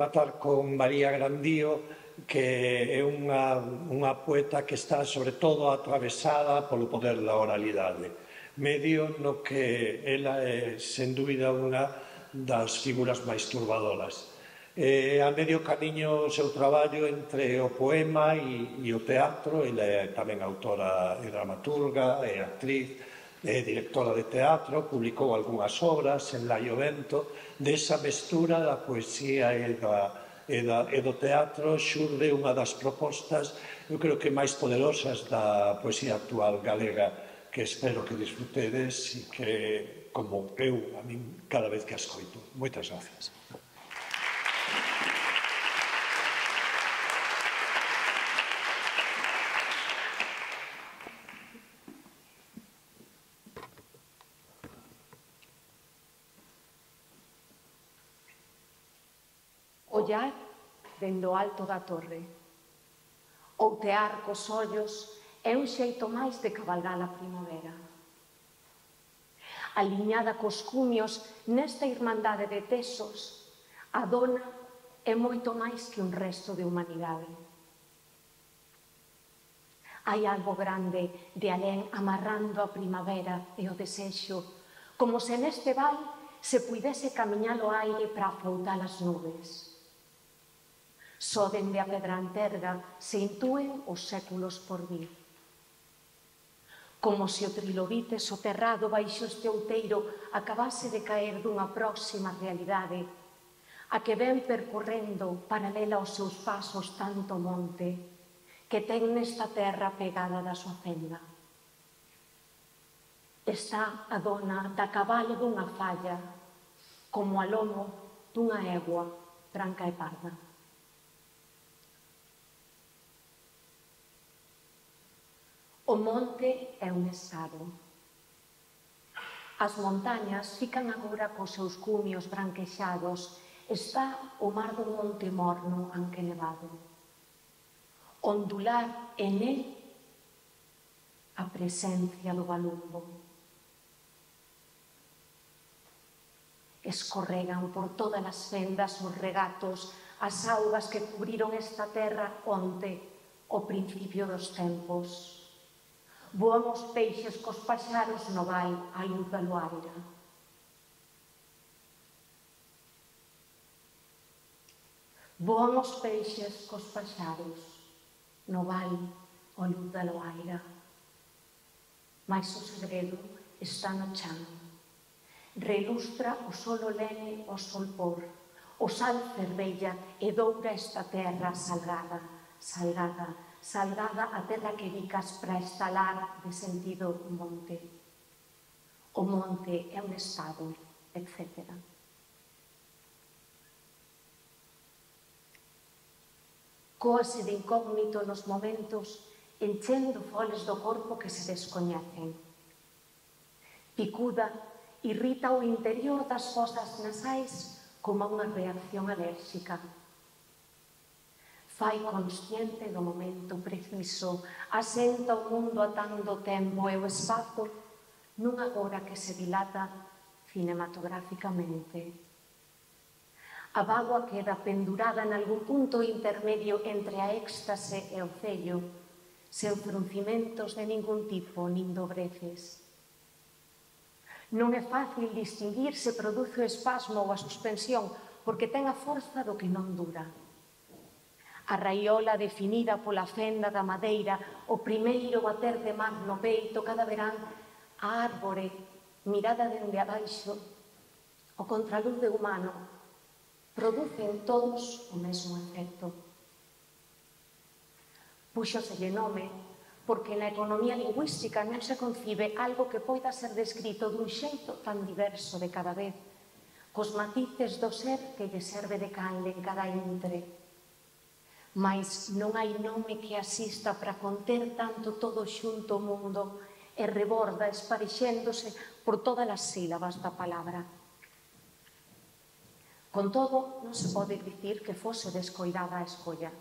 rematar con María Grandío, que é unha poeta que está sobre todo atravesada polo poder da oralidade, medio no que ela é, sen dúbida, unha das figuras máis turbadoras. A medio camiño o seu traballo entre o poema e o teatro. Ela é tamén autora e dramaturga, é actriz, é directora de teatro, publicou algunhas obras en Laio Vento. Desa mestura da poesía e do teatro xurde unha das propostas, eu creo que máis poderosas da poesía actual galega, que espero que disfrutedes e que, como eu, a min, cada vez que a escoito. Moitas gracias. Ollar dende o alto da torre, outear cos ollos é un xeito máis de cabalgar a primavera. Aliñada cos cumios nesta irmandade de tesos, a dona é moito máis que un resto de humanidade. Hai algo grande de alén amarrando a primavera e o desexo, como se neste val se puidese camiñar o aire para afroutar as nubes. Só dende a pedra anterga se intúen os séculos por vir. Como se o trilobite soterrado baixo este outeiro acabase de caer dunha próxima realidade, a que ven percorrendo paralela aos seus pasos tanto monte, que ten nesta terra pegada da súa fenda. Está a dona da cabalo dunha falla, como a lomo dunha egua branca e parda. O monte é un estado. As montañas fican agora cos seus cumios branquexados. Está o mar do monte morno anque nevado. Ondular en él a presencia do balumbo. Escorregan por todas as fendas os regatos, as augas que cubriron esta terra onte, ao principio dos tempos. Voan os peixes cos paxaros no val á luz da luaira. Voan os peixes cos paxaros no val á luz da luaira. Mais o segredo está no chan. Relustra o solo lene ao solpor. O sal fervella e doura esta terra salgada, salgada, salgada a terra que bicas para estalar de sentido monte. O monte é un estado, etc. Cóase de incógnito nos momentos, enchendo foles do corpo que se descoñecen. Picuda, irrita o interior das fosas nasais como unha reacción alérxica. Fai consciente do momento preciso, asenta o mundo atando o tempo e o espazo nun agora que se dilata cinematográficamente. A bágoa queda pendurada en algún punto intermedio entre a éxtase e o cello, sen fruncimentos de ningún tipo, nin dobreces. Non é fácil distinguir se produce o espasmo ou a suspensión, porque ten a forza do que non dura. A raiola definida pola fenda da madeira, o primeiro bater de mar no peito cada verán, a árbore mirada dende abaixo, o contraluce humano, producen todos o mesmo efecto. Púxoselle nome porque na economía lingüística non se concibe algo que poida ser descrito dun xeito tan diverso de cada vez, cos matices do ser que lle serve de canle en cada intre. Mais non hai nome que asista para conter tanto todo xunto o mundo e reborda esparexéndose por todas as sílabas da palabra. Con todo, non se pode dicir que fose descoidada a escolla.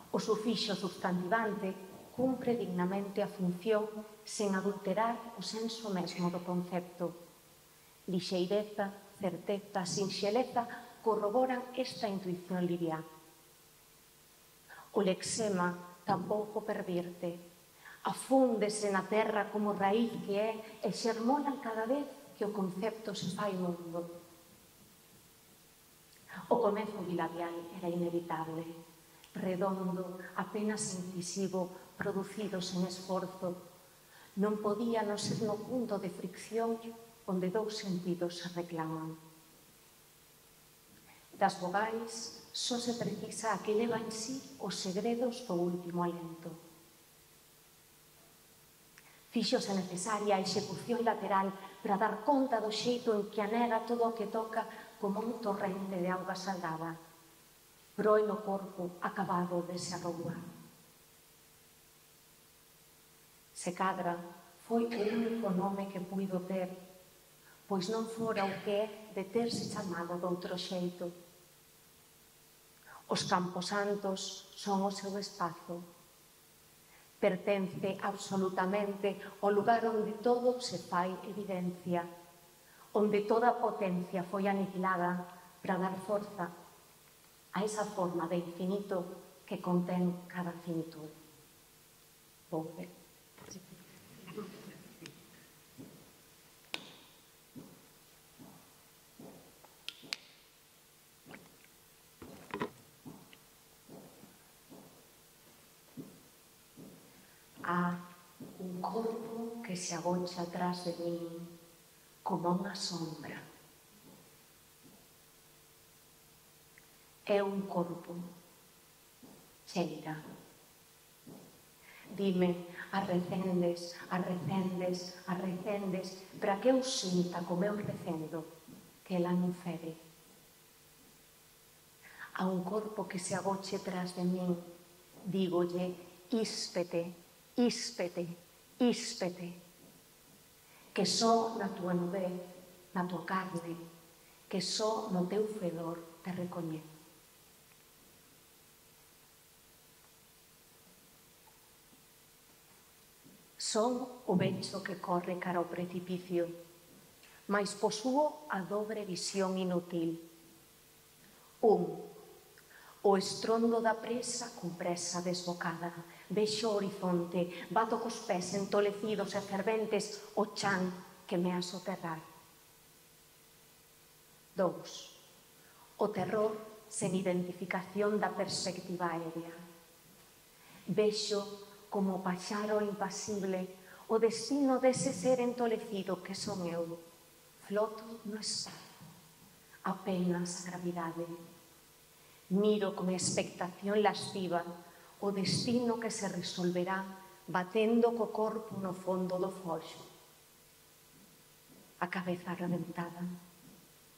O sufixo substantivante cumpre dignamente a función sen adulterar o senso mesmo do concepto. Lixeireza, certeza, sinxeleza corroboran esta intuición liviá. O lexema tampouco pervirte, afúndese na terra como raíz que é e xermola cada vez que o concepto se fai mundo. O comezo bilabial era inevitable, redondo, apenas incisivo, producido sen esforzo. Non podía non ser no punto de fricción onde dous sentidos se reclaman. Das vogais só se precisa a que leva en sí os segredos do último alento. Fíxose necesaria a execución lateral para dar conta do xeito en que anega todo o que toca como un torrente de auga salgada. Proe no corpo acabado de se arroubar. Se cadra, foi o único nome que puido ter, pois non fora o que é de terse chamado doutro xeito. Os camposantos son o seu espazo. Pertence absolutamente ao lugar onde todo se fai evidencia, onde toda potencia foi aniquilada para dar forza a esa forma de infinito que contén cada finitude. Volve. Há un corpo que se agocha atrás de min como unha sombra. É un corpo. Cheira. Dime, arrecendes, arrecendes, arrecendes, para que eu sinta como eu recendo, que ela non fere. A un corpo que se agoche tras de min, dígolle, íspete, íspete, íspete, que só na túa nudez, na túa carne, que só no teu fedor te recoñezo. Son o vento que corre cara ao precipicio, mais posúo a dobre visión inútil. O estrondo da presa con presa desbocada. Vexo o horizonte, bato cos pés entolecidos e ferventes o chan que me a soterrar. 2. O terror sen identificación da perspectiva aérea. Vexo como o paxaro impasible o destino dese ser entolecido que son eu. Floto no espazo, apenas a gravidade. Miro con expectación lasciva o destino que se resolverá batendo co corpo no fondo do foxo. A cabeza reventada,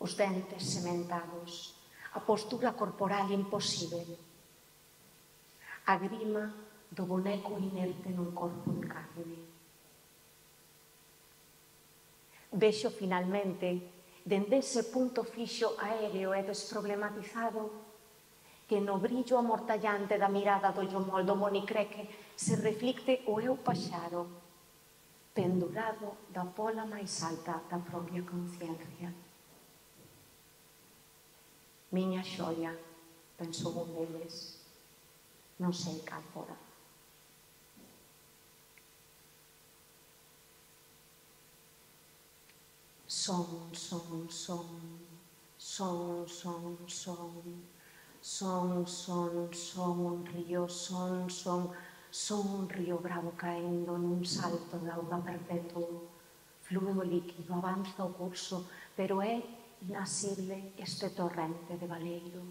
os dentes sementados, a postura corporal imposible. A grima do boneco inerte nun corpo de carne. Vexo finalmente, dende ese punto fixo aéreo e desproblematizado, que no brillo amortallante da mirada do Yomol do monicreque se reflicte o eu paxaro, pendurado da pola máis alta da propia conciencia. Miña xoia, pensou un deles, non sei cal fora. Son, son, son, son, son, son, son, son, son, un río, son, son, son un río bravo caendo nun salto de auga perpetuo. Flúe o líquido, avanza o curso, pero é inasible este torrente de baleiro.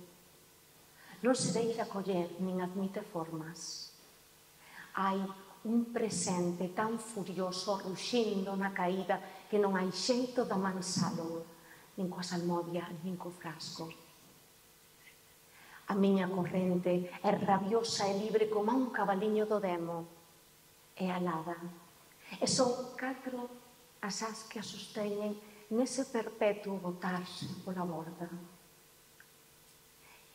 Non se deixa coller nin admite formas. Hai un presente tan furioso ruxindo na caída que non hai xeito de amansalo, nin coa salmodia, nin co frasco. A miña corrente é rabiosa e libre como un cabaliño do demo. É alada. E son 4 as as que a sosteñen nese perpetuo botarse pola borda.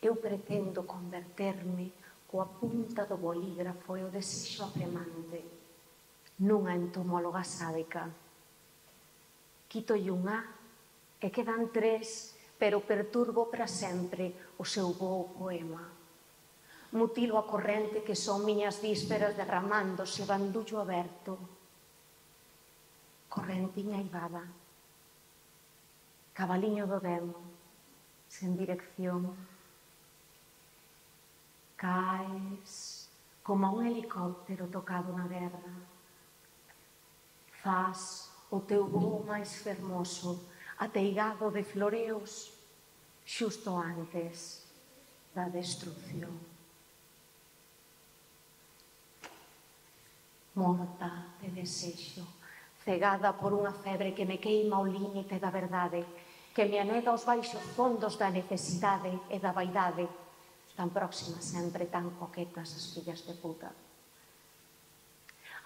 Eu pretendo converterme coa punta do bolígrafo e o desexo apremante nunha entomóloga sádica. Quítolle un A e quedan 3 pero perturbo para sempre o seu voo poema. Mutilo a corrente que son miñas vísperas derramándose bandullo aberto. Correntiña ivada, cabaliño do demo, sen dirección. Caes como un helicóptero tocado na guerra. Faz o teu voo máis fermoso, ateigado de floreos, xusto antes da destrucción. Morta de desexo, cegada por unha febre que me queima ao límite da verdade, que me anega aos baixos fondos da necesidade e da vaidade, tan próximas sempre, tan coquetas as fillas de puta.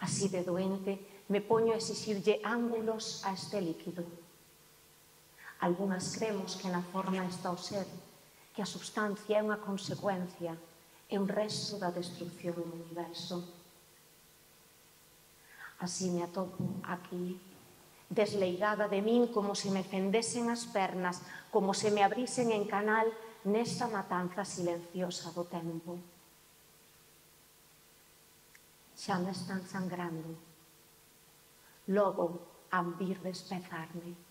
Así de doente, me poño a exixirlle ángulos a este líquido. Algúnas cremos que na forma está o ser, que a substancia é unha consecuencia, é un resto da destrucción do universo. Así me atopo aquí, desleigada de min como se me fendesen as pernas, como se me abrisen en canal nesta matanza silenciosa do tempo. Xa me están sangrando. Logo han vir despezarme.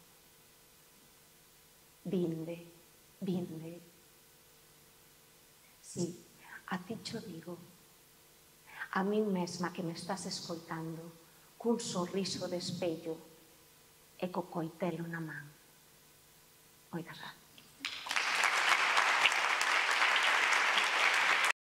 Vinde, vinde. Sí, a ti cho digo. A min mesma que me estás escoitando, cun sorriso de espello e co coitelo na man. Oigas.